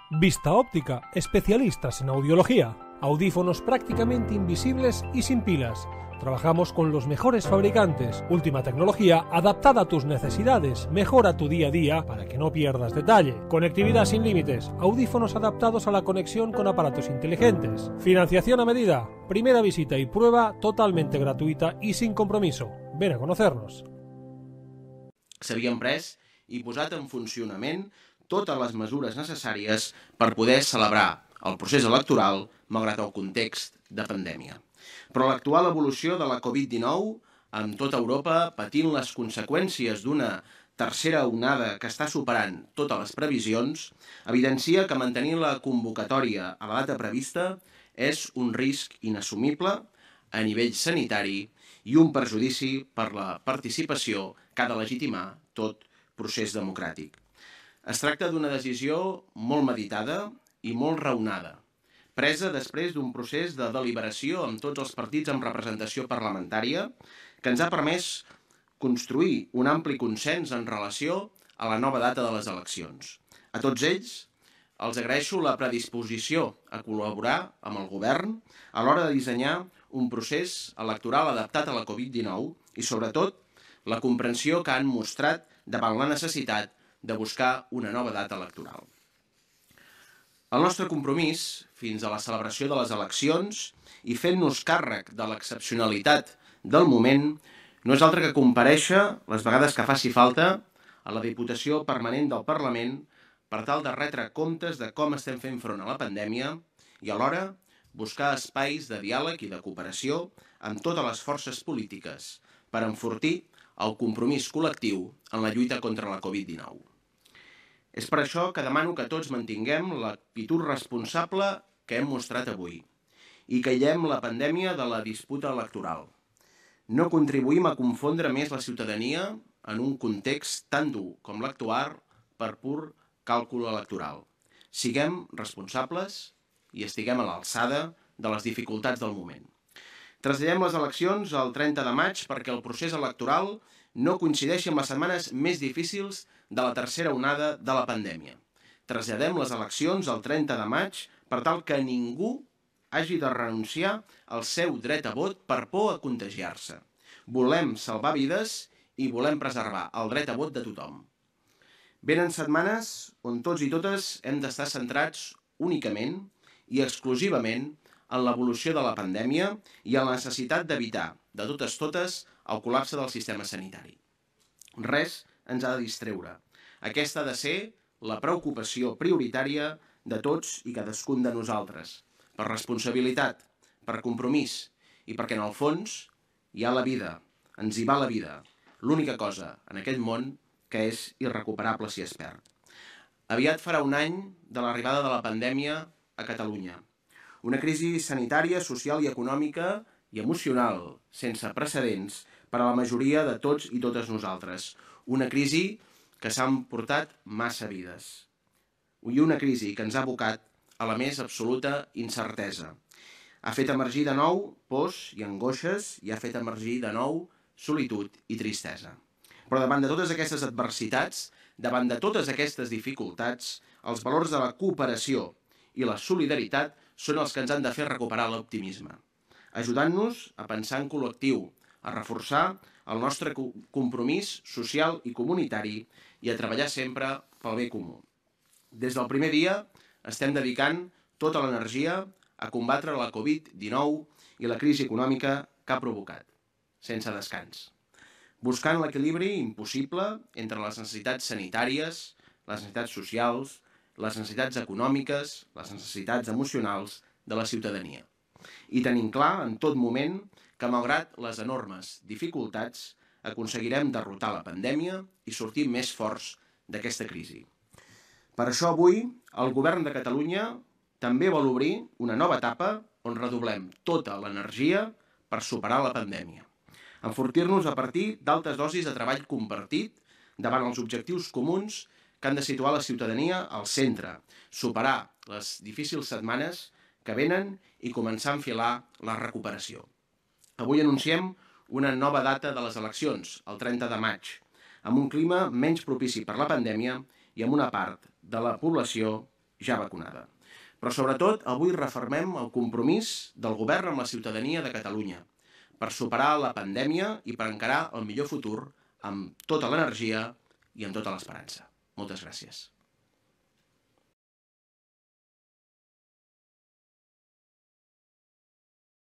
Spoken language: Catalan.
Vista Óptica, especialistas en audiología. Audífonos prácticamente invisibles y sin pilas. Trabajamos con los mejores fabricantes, última tecnología adaptada a tus necesidades, mejora tu día a día para que no pierdas detalle. Conectividad sin límites, audífonos adaptados a la conexión con aparatos inteligentes. Financiación a medida, primera visita y prueba totalmente gratuita y sin compromiso. Ven a conocernos. S'havien pres i posat en funcionament totes les mesures necessàries per poder celebrar el procés electoral malgrat el context de pandèmia. Però l'actual evolució de la Covid-19, amb tota Europa patint les conseqüències d'una tercera onada que està superant totes les previsions, evidencia que mantenir la convocatòria a la data prevista és un risc inassumible a nivell sanitari i un perjudici per la participació que ha de legitimar tot procés democràtic. Es tracta d'una decisió molt meditada i molt raonada, presa després d'un procés de deliberació amb tots els partits amb representació parlamentària que ens ha permès construir un ampli consens en relació a la nova data de les eleccions. A tots ells els agraeixo la predisposició a col·laborar amb el govern a l'hora de dissenyar un procés electoral adaptat a la Covid-19 i, sobretot, la comprensió que han mostrat davant la necessitat de buscar una nova data electoral. El nostre compromís, fins a la celebració de les eleccions i fent-nos càrrec de l'excepcionalitat del moment, no és altre que comparèixer les vegades que faci falta a la Diputació Permanent del Parlament per tal de retre comptes de com estem fent front a la pandèmia i alhora buscar espais de diàleg i de cooperació amb totes les forces polítiques per enfortir el compromís col·lectiu en la lluita contra la Covid-19. És per això que demano que tots mantinguem l'actitud responsable que hem mostrat avui i que aïllem la pandèmia de la disputa electoral. No contribuïm a confondre més la ciutadania en un context tan dur com l'actual per pur càlcul electoral. Siguem responsables i estiguem a l'alçada de les dificultats del moment. Traslladem les eleccions al 30 de maig perquè el procés electoral no coincideixi amb les setmanes més difícils de la tercera onada de la pandèmia. Traslladem les eleccions al 30 de maig per tal que ningú hagi de renunciar al seu dret a vot per por a contagiar-se. Volem salvar vides i volem preservar el dret a vot de tothom. Venen setmanes on tots i totes hem d'estar centrats únicament i exclusivament en l'evolució de la pandèmia i en la necessitat d'evitar, de totes, el col·lapse del sistema sanitari. Res ens ha de distreure. Aquesta ha de ser la preocupació prioritària de tots i cadascun de nosaltres, per responsabilitat, per compromís i perquè en el fons hi ha la vida, ens hi va la vida, l'única cosa en aquest món que és irrecuperable si es perd. Aviat farà un any de l'arribada de la pandèmia a Catalunya. Una crisi sanitària, social i econòmica i emocional, sense precedents per a la majoria de tots i totes nosaltres. Una crisi que s'ha emportat massa vides. I una crisi que ens ha abocat a la més absoluta incertesa. Ha fet emergir de nou pors i angoixes i ha fet emergir de nou solitud i tristesa. Però davant de totes aquestes adversitats, davant de totes aquestes dificultats, els valors de la cooperació i la solidaritat són els que ens han de fer recuperar l'optimisme, ajudant-nos a pensar en col·lectiu, a reforçar el nostre compromís social i comunitari i a treballar sempre pel bé comú. Des del primer dia estem dedicant tota l'energia a combatre la Covid-19 i la crisi econòmica que ha provocat, sense descans, buscant l'equilibri impossible entre les necessitats sanitàries, les necessitats socials, les necessitats econòmiques, les necessitats emocionals de la ciutadania. I tenim clar en tot moment que, malgrat les enormes dificultats, aconseguirem derrotar la pandèmia i sortir més forts d'aquesta crisi. Per això avui el Govern de Catalunya també vol obrir una nova etapa on redoblem tota l'energia per superar la pandèmia. Enfortir-nos a partir d'altes dosis de treball compartit davant els objectius comuns que han de situar la ciutadania al centre, superar les difícils setmanes que venen i començar a enfilar la recuperació. Avui anunciem una nova data de les eleccions, el 30 de maig, amb un clima menys propici per la pandèmia i amb una part de la població ja vacunada. Però sobretot avui refermem el compromís del govern amb la ciutadania de Catalunya per superar la pandèmia i per encarar el millor futur amb tota l'energia i amb tota l'esperança. Moltes gràcies.